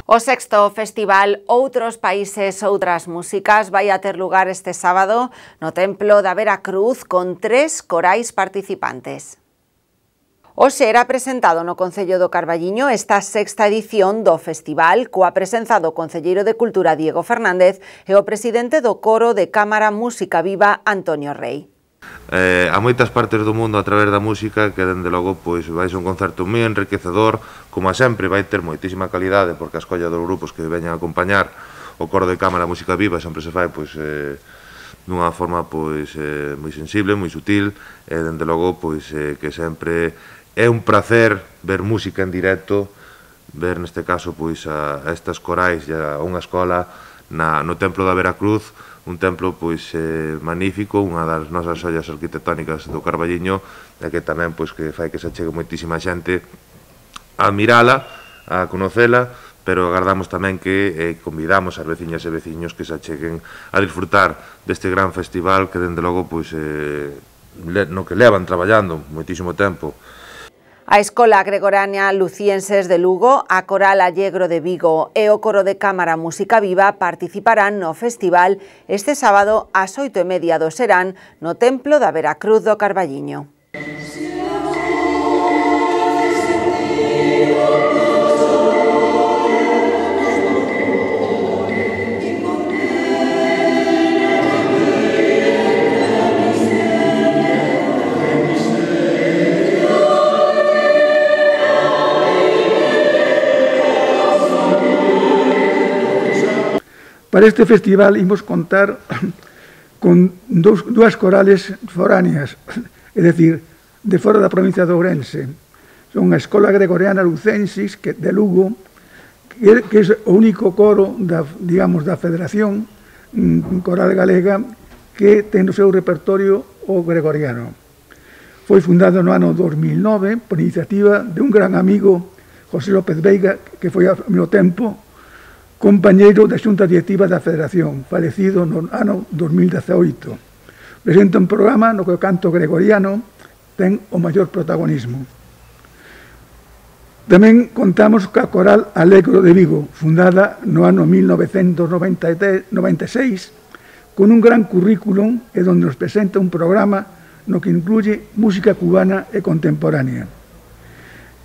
O sexto festival Outros Países, Outras Músicas vai a ter lugar este sábado no Templo da Veracruz con 3 corais participantes. Hoxe era presentado no Concello do Carballiño esta sexta edición do festival coa presenza do Concelleiro de Cultura Diego Fernández e o presidente do Coro de Cámara Música Viva Antonio Rei. A moitas partes do mundo a través da música que, dende logo, pois vai ser un concerto moi enriquecedor, como a sempre vai ter moitísima calidade, porque a escolla dos grupos que veñan a acompañar o Coro de Cámara Música Viva sempre se fai pois dunha forma pois moi sensible, moi sutil, e dende logo pois que sempre é un placer ver música en directo, ver neste caso pois a estas corais e a unha escola no Templo da Veracruz, un templo pois magnífico, unha das nosas ollas arquitectónicas do Carballiño, e que tamén pois que fai que se achegue moitísima xente a admirala, a conocela, pero agardamos tamén que convidamos as veciñas e veciños que se acheguen a disfrutar deste gran festival que dende logo pois no que levan traballando moitísimo tempo. A Escola Gregoriana Lucienses de Lugo, a Coral Allegro de Vigo e o Coro de Cámara Música Viva participarán no festival este sábado ás 8:30 do serán no Templo da Veracruz do Carballiño. Para este festival imos contar con dúas corales foráneas, é dicir, de fora da provincia de Ourense. Son a Escola Gregoriana Lucensis de Lugo, que é o único coro da Federación Coral Galega que ten no seu repertorio o gregoriano. Foi fundado no ano 2009 por iniciativa de un gran amigo, José López Veiga, que foi ao mesmo tempo compañeiro da Xunta Directiva da Federación, falecido no ano 2018. Presenta un programa no que o canto gregoriano ten o maior protagonismo. Tamén contamos ca Coral Allegro de Vigo, fundada no ano 1996, con un gran currículum e onde nos presenta un programa no que incluye música cubana e contemporánea.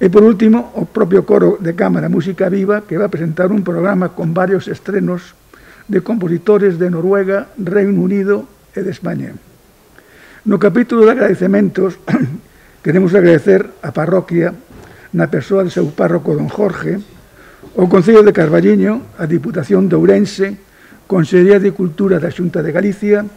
E, por último, o propio Coro de Cámara Música Viva, que va a presentar un programa con varios estrenos de compositores de Noruega, Reino Unido e de España. No capítulo de agradecementos, queremos agradecer a parroquia, na persoa do seu párroco don Jorge, o Concello de Carballiño, a Diputación de Ourense, Consellería de Cultura da Xunta de Galicia,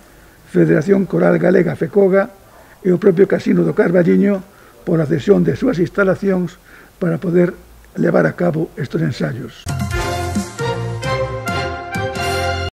Federación Coral Galega FECOGA e o propio Casino do Carballiño, por a cesión de súas instalacións para poder levar a cabo estes ensaios.